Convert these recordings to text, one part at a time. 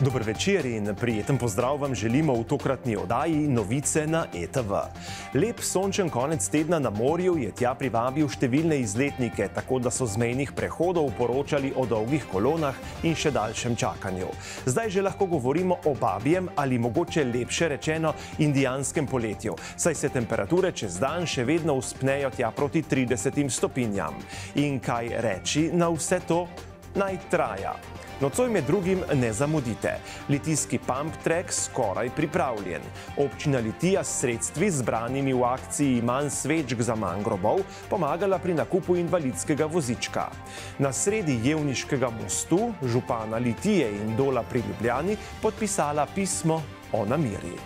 Dober večer in prijeten pozdrav vam želimo v tokratni oddaji Novice na ETV. Lep sončen konec tedna na morju je tja privabil številne izletnike, tako da so z mejnih prehodov poročali o dolgih kolonah in še daljšem čakanju. Zdaj že lahko govorimo o babjem ali mogoče lepše rečeno indijanskem poletju, saj se temperature čez dan še vedno vzpnejo tja proti 30 stopinjam. In kaj reči na vse to? Naj traja. Nocoj med drugim ne zamudite. Litijski pump track skoraj pripravljen. Občina Litija s sredstvi zbranimi v akciji Manj svečk za manj grobov pomagala pri nakupu invalidskega vozička. Na sredi Jevniškega mostu župana Litije in Dola pri Ljubljani podpisala pismo o nameri.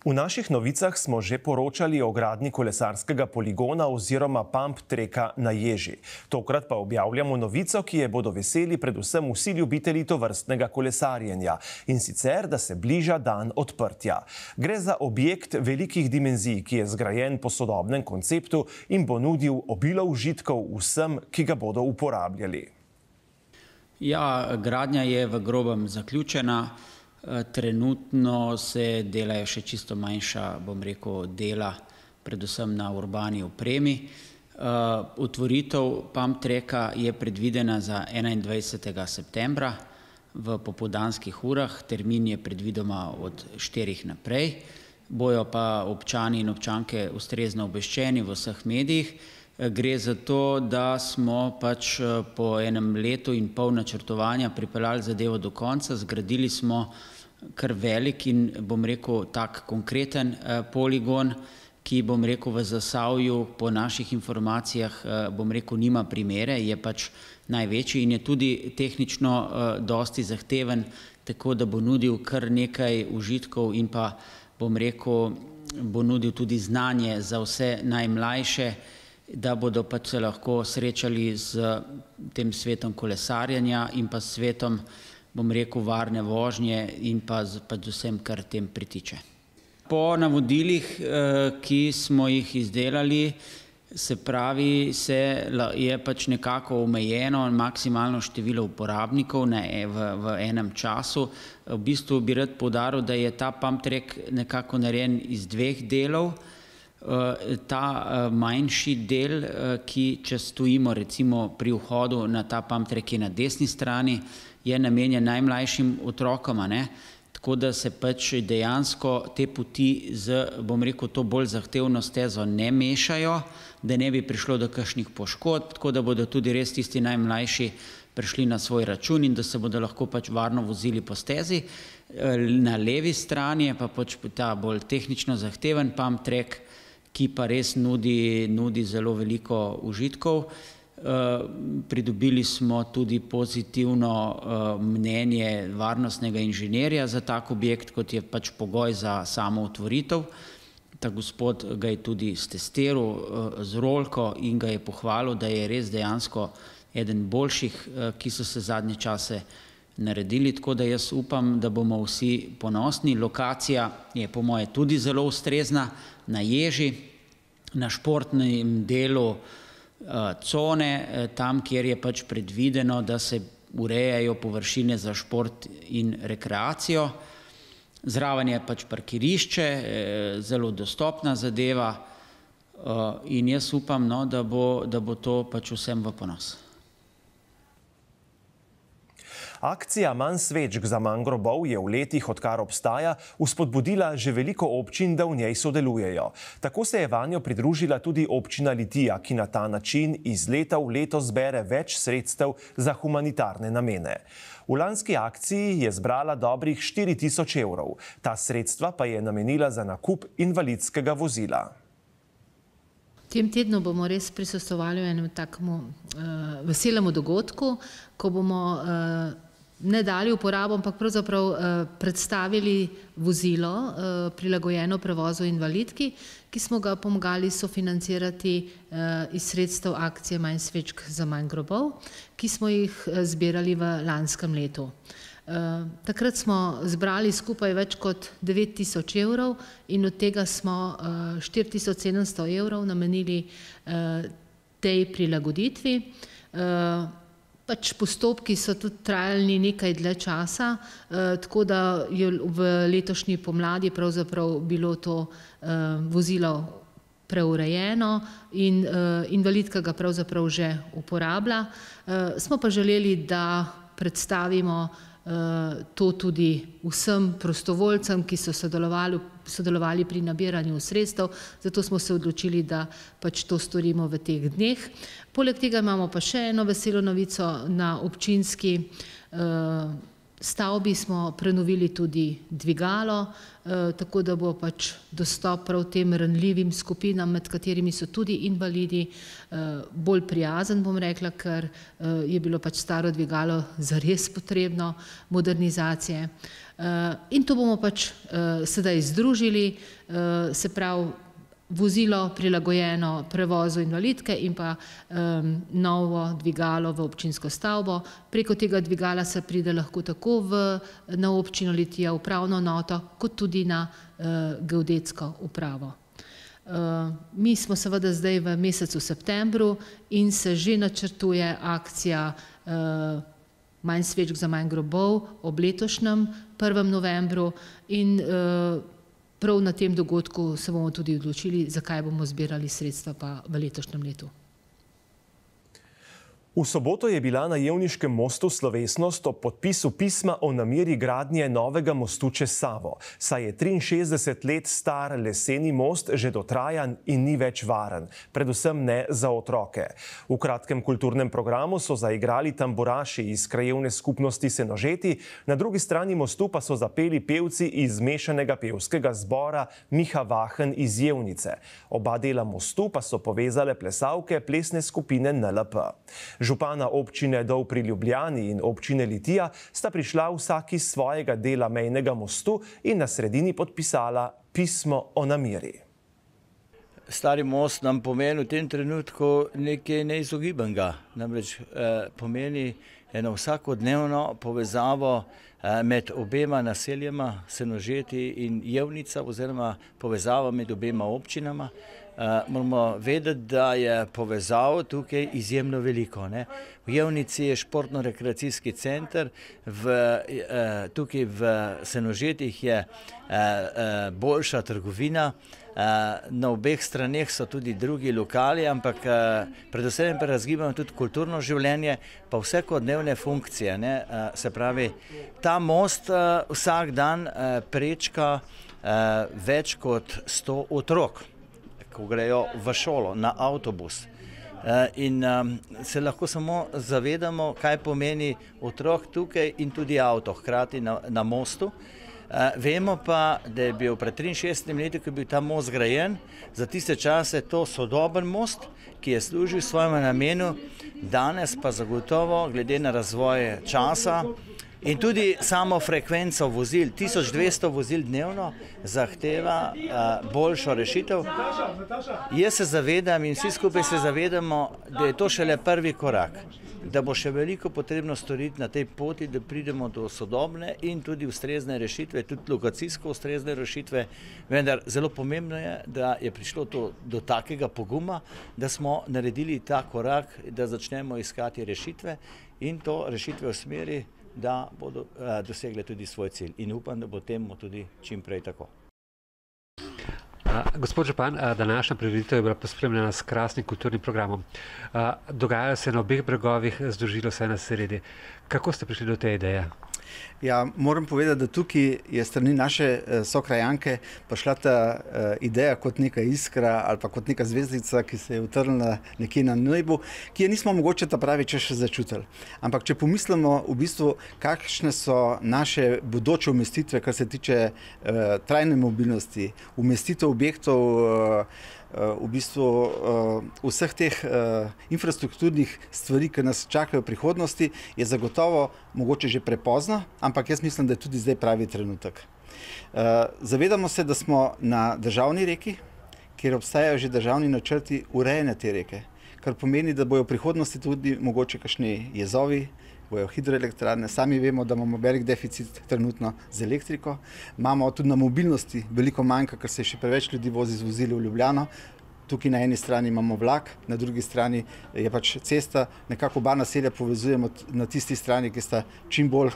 V naših novicah smo že poročali o gradnji kolesarskega poligona oziroma pump treka na Ježi. Tokrat pa objavljamo novico, ki je bodo veseli predvsem vsi ljubitelji tovrstnega kolesarjenja, in sicer, da se bliža dan odprtja. Gre za objekt velikih dimenzij, ki je zgrajen po sodobnem konceptu in bo nudil obilo užitkov vsem, ki ga bodo uporabljali. Ja, gradnja je v grobem zaključena. Trenutno se delajo še čisto manjša, bom rekel, dela, predvsem na urbani opremi. Otvoritev pump treka je predvidena za 21. septembra v popoldanskih urah. Termin je predvidoma od 4 naprej. Bojo pa občani in občanke ustrezno obveščeni v vseh medijih. Gre za to, da smo pač po enem letu in pol načrtovanja pripeljali zadevo do konca. Zgradili smo kar velik in, bom rekel, tak konkreten poligon, ki, bom rekel, v Zasavju po naših informacijah, bom rekel, nima primere, je pač največji in je tudi tehnično dosti zahteven, tako da bo nudil kar nekaj užitkov in pa, bom rekel, bo nudil tudi znanje za vse najmlajše, da bodo pač se lahko srečali z tem svetom kolesarjenja in pa svetom, bom rekel, varne vožnje in pa z vsem, kar tem pritiče. Po navodilih, ki smo jih izdelali, se pravi, je pač nekako omejeno maksimalno število uporabnikov v enem času. V bistvu bi rad poudaril, da je ta pump track nekako narejen iz dveh delov. Ta manjši del, ki če stojimo recimo pri vhodu na ta pump track je na desni strani, je namenjen najmlajšim otrokom, tako da se pač dejansko te poti z, bom rekel, to bolj zahtevno stezo ne mešajo, da ne bi prišlo do kakšnih poškodb, tako da bodo tudi res tisti najmlajši prišli na svoj račun in da se bodo lahko pač varno vozili po stezi. Na levi strani je pa pač ta bolj tehnično zahteven pump track, ki pa res nudi zelo veliko užitkov. Pridobili smo tudi pozitivno mnenje varnostnega inženirja za tak objekt, kot je pač pogoj za samo otvoritev. Ta gospod ga je tudi stestiral z rolko in ga je pohvalil, da je res dejansko eden boljših, ki so se zadnje čase naredili, tako da jaz upam, da bomo vsi ponosni. Lokacija je po moje tudi zelo ustrezna na Ježi, na športnem delu cone, tam, kjer je pač predvideno, da se urejajo površine za šport in rekreacijo. Zraven je pač parkirišče, zelo dostopna zadeva in jaz upam, da bo to pač vsem v ponos. Akcija Manj svečk za manj grobov je v letih, odkar obstaja, vzpodbudila že veliko občin, da v njej sodelujejo. Tako se je vanjo pridružila tudi občina Litija, ki na ta način iz leta v leto zbere več sredstev za humanitarne namene. V lanski akciji je zbrala dobrih 4000 evrov. Ta sredstva pa je namenila za nakup invalidskega vozila. V tem tednu bomo res prisostvovali v enem takemu veselemu dogodku, ko bomo ne dali uporabo, ampak pravzaprav predstavili vozilo prilagojeno prevozu invalidki, ki smo ga pomagali sofinancirati iz sredstev akcije Manj svečk za manj grobov, ki smo jih zbirali v lanskem letu. Takrat smo zbrali skupaj več kot 9000 evrov in od tega smo 4700 evrov namenili tej prilagoditvi. Pač postopki so tudi trajali nekaj dlje časa, tako da je v letošnji pomladi pravzaprav bilo to vozilo preurejeno in invalidka ga pravzaprav že uporablja. Smo pa želeli, da predstavimo to tudi vsem prostovoljcem, ki so sodelovali pri nabiranju sredstev, zato smo se odločili, da pač to storimo v teh dneh. Poleg tega imamo pa še eno veselo novico. Na občinski stavbi smo prenovili tudi dvigalo, tako da bo pač dostop prav tem ranljivim skupinam, med katerimi so tudi invalidi, bolj prijazen, bom rekla, ker je bilo pač staro dvigalo zares potrebno modernizacije. In to bomo pač sedaj združili, se pravi vozilo prilagojeno prevozu invalidke in pa novo dvigalo v občinsko stavbo. Preko tega dvigala se pride lahko tako na občino Litija, upravno enoto, kot tudi na geodetsko upravo. Mi smo seveda zdaj v mesecu septembru in se že načrtuje akcija Manj svečk za manj grobov ob letošnjem 1. novembru in prav na tem dogodku se bomo tudi odločili, zakaj bomo zbirali sredstva pa v letošnjem letu. V soboto je bila na Jevniškem mostu slovesnost ob podpisu pisma o nameri gradnje novega mostu čez Savo, saj je 63 let star leseni most že dotrajan in ni več varen, predvsem ne za otroke. V kratkem kulturnem programu so zaigrali tamburaši iz krajevne skupnosti Senožeti, na drugi strani mostu pa so zapeli pevci iz mešanega pevskega zbora Miha Vahen iz Jevnice. Oba dela mostu pa so povezale plesalke plesne skupine NLP. Župana občine Dol pri Ljubljani in občine Litija sta prišla vsak iz svojega dela mejnega mostu in na sredini podpisala pismo o nameri. Stari most nam pomeni v tem trenutku nekaj neizogibanega. Namreč pomeni eno vsakodnevno povezavo med obema naseljema, Senožeti in Jevnica, oziroma povezava med obema občinama. Moramo vedeti, da je povezav tukaj izjemno veliko. V Jevnici je športno-rekreacijski center, tukaj v Senožetih je boljša trgovina, na obeh straneh so tudi drugi lokali, ampak predvsem pa razgibamo tudi kulturno življenje, pa vsakodnevne funkcije. Se pravi, ta most vsak dan prečka več kot 100 otrok, ko grejo v šolo, na avtobus. In se lahko samo zavedamo, kaj pomeni otrok tukaj in tudi avto, hkrati na mostu. Vemo pa, da je bil pred 63 leti, ko je bil ta most zgrajen, za tiste čase to sodoben most, ki je služil svojemu namenu, danes pa zagotovo, glede na razvoj časa, in tudi samo frekvenco vozil, 1200 vozil dnevno, zahteva boljšo rešitev. Jaz se zavedam in vsi skupaj se zavedamo, da je to šele prvi korak, da bo še veliko potrebno storiti na tej poti, da pridemo do sodobne in tudi ustrezne rešitve, tudi lokacijsko ustrezne rešitve, vendar zelo pomembno je, da je prišlo do takega poguma, da smo naredili ta korak, da začnemo iskati rešitve in to rešitve v smeri, da bodo dosegle tudi svoj cilj. In upam, da bo temu tudi čim prej tako. Gospod župan, današnja prireditev je bila pospremljena s krasnim kulturnim programom. Dogajajo se na obeh bregovih, združilo se na sredi. Kako ste prišli do te ideje? Ja, moram povedati, da tukaj je strani naše sokrajanke prišla ta ideja kot neka iskra ali pa kot neka zvezdica, ki se je utrnila nekje na nebu, ki je nismo mogoče ta pravi čas še začutili. Ampak če pomislimo v bistvu, kakšne so naše bodoče umestitve, kar se tiče trajne mobilnosti, umestitev objektov, v bistvu vseh teh infrastrukturnih stvari, ki nas čakajo v prihodnosti, je zagotovo mogoče že prepozno, ampak jaz mislim, da je tudi zdaj pravi trenutek. Zavedamo se, da smo na državni reki, kjer obstajajo že državni načrti urejanja te reke, kar pomeni, da bojo v prihodnosti tudi mogoče kakšni jezovi, bojo hidroelektrarne. Sami vemo, da imamo velik deficit trenutno z elektriko. Imamo tudi na mobilnosti veliko manjka, ker se še preveč ljudi vozi z vozili v Ljubljano. Tukaj na eni strani imamo vlak, na drugi strani je pač cesta, nekako oba naselja povezujemo na tisti strani, ki sta čim bolj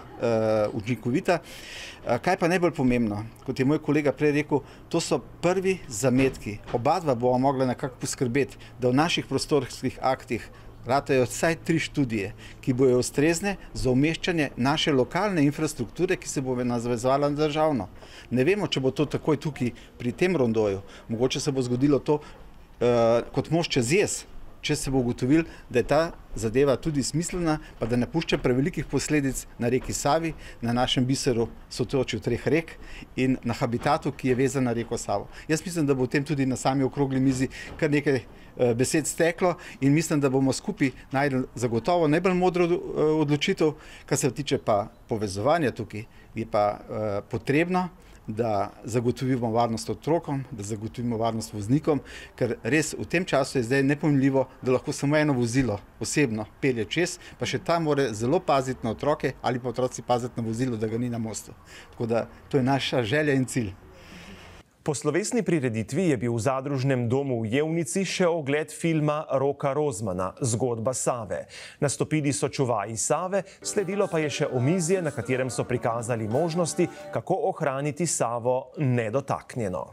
učinkovita. Kaj pa najbolj pomembno, kot je moj kolega prej rekel, to so prvi zametki. Oba dva bomo mogla nekako poskrbeti, da v naših prostorskih aktih ratajo vsaj 3 študije, ki bojo ustrezne za umeščanje naše lokalne infrastrukture, ki se bo navezovala na državno. Ne vemo, če bo to takoj tukaj pri tem rondoju. Mogoče se bo zgodilo to kot most čez jez, če se bo ugotovil, da je ta zadeva tudi smiselna, pa da ne pušča prevelikih posledic na reki Savi, na našem biseru sotočju 3 rek in na habitatu, ki je vezan na reko Savo. Jaz mislim, da bo v tem tudi na sami okrogli mizi kar nekaj besed steklo in mislim, da bomo skupaj najdli zagotovo najbolj modro odločitev. Kar se tiče pa povezovanja tukaj, je pa potrebno, da zagotovimo varnost otrokom, da zagotovimo varnost voznikom, ker res v tem času je zdaj nepojmljivo, da lahko samo eno vozilo osebno pelje čez, pa še ta mora zelo paziti na otroke ali pa otroci paziti na vozilo, da ga ni na mostu. Tako da to je naša želja in cilj. Po slovesni prireditvi je bil v Zadružnem domu v Jevnici še ogled filma Roka Rozmana Zgodba Save. Nastopili so čuvaji Save, sledilo pa je še omizje, na katerem so prikazali možnosti, kako ohraniti Savo nedotaknjeno.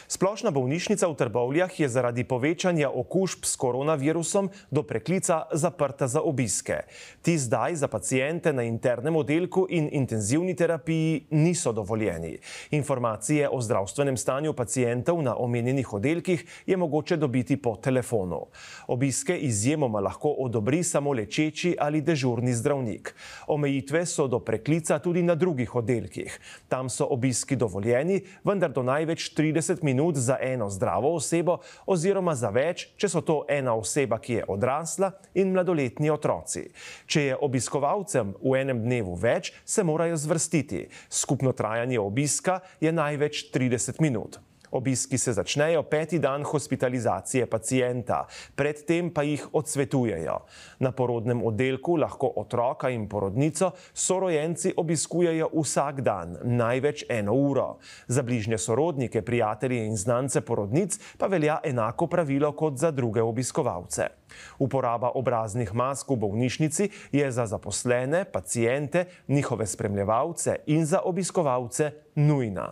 Splošna bolnišnica v Trbovljah je zaradi povečanja okužb s koronavirusom do preklica zaprta za obiske. Ti zdaj za paciente na internem oddelku in intenzivni terapiji niso dovoljeni. Informacije o zdravstvenem stanju pacientov na omenjenih oddelkih je mogoče dobiti po telefonu. Obiske izjemoma lahko odobri samo lečeči ali dežurni zdravnik. Omejitve so do preklica tudi na drugih oddelkih. Tam so obiski dovoljeni, vendar do največ 30 minut za eno zdravo osebo oziroma za več, če so to ena oseba, ki je odrasla in mladoletni otroci. Če je obiskovalcem v enem dnevu več, se morajo zvrstiti. Skupno trajanje obiska je največ 30 minut. Obiski se začnejo 5. dan hospitalizacije pacienta, predtem pa jih odsvetujejo. Na porodnem oddelku lahko otroka in porodnico sorojenci obiskujejo vsak dan, največ 1 uro. Za bližnje sorodnike, prijatelje in znance porodnic pa velja enako pravilo kot za druge obiskovalce. Uporaba obraznih mask v bolnišnici je za zaposlene, paciente, njihove spremljevalce in za obiskovalce nujna.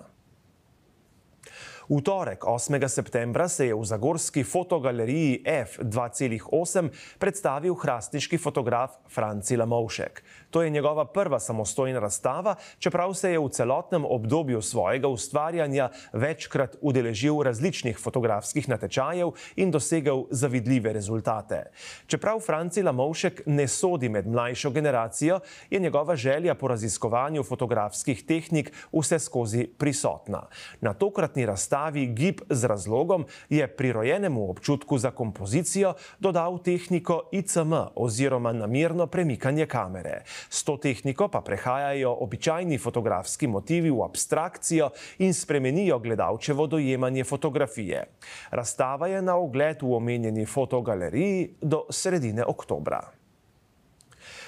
V torek, 8. septembra, se je v zagorski fotogaleriji F2,8 predstavil hrastniški fotograf Franci Lamovšek. To je njegova prva samostojna razstava, čeprav se je v celotnem obdobju svojega ustvarjanja večkrat udeležil različnih fotografskih natečajev in dosegel zavidljive rezultate. Čeprav Franci Lamovšek ne sodi med mlajšo generacijo, je njegova želja po raziskovanju fotografskih tehnik vseskozi prisotna. Na tokratni razstavi Gib z razlogom je prirojenemu občutku za kompozicijo dodal tehniko ICM oziroma namerno premikanje kamere. S to tehniko pa prehajajo običajni fotografski motivi v abstrakcijo in spremenijo gledalčevo dojemanje fotografije. Razstava je na ogled v omenjeni fotogaleriji do sredine oktobra.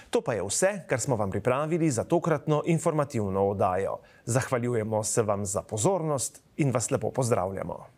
To pa je vse, kar smo vam pripravili za tokratno informativno oddajo. Zahvaljujemo se vam za pozornost in vas lepo pozdravljamo.